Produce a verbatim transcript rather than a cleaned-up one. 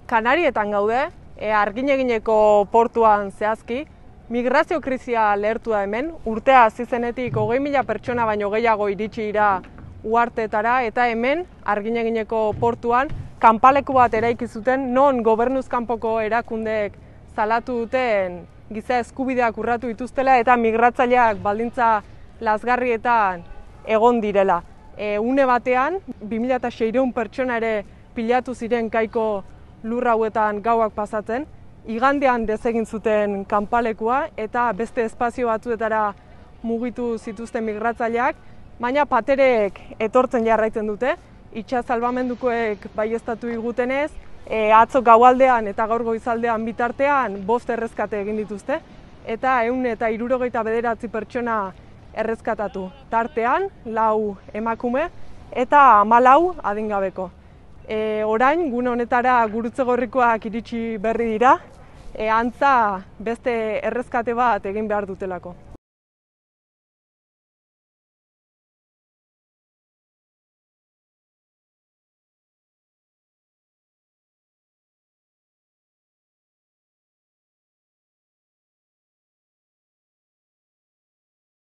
Kanarietan gaude, e, Arginegineko portuan zehazki, migrazio krisia lehertu da hemen, urtea hasi zenetik hogei mila pertsona baino gehiago iritsi dira uharteetara, eta hemen Arginegineko portuan kanpaleku bat eraiki zuten, non gobernuz kanpoko erakundeek salatu duten giza eskubideak urratu dituztela eta migratzaileak baldintza lazgarrietan egon direla. E, une batean, bi mila seiehun pertsona ere pilatu ziren kaiko lur hauetan gauak pasatzen, igandean desegin zuten kanpalekua eta beste espazio batzuetara mugitu zituzten migratzaileak, baina patereek etortzen jarraitzen dute, itsas salbamendukoek baieztatu digutenez, e, atzo gaualdean eta gaur goizaldean bitartean bost erreskate egin dituzte, eta ehun eta hirurogeita bederatzi pertsona erreskatatu. Tartean, lau emakume eta hamalau adingabeko. E, orain, gune honetara gurutze gorrikoak iritsi berri dira, e, antza beste erreskate bat egin behar dutelako.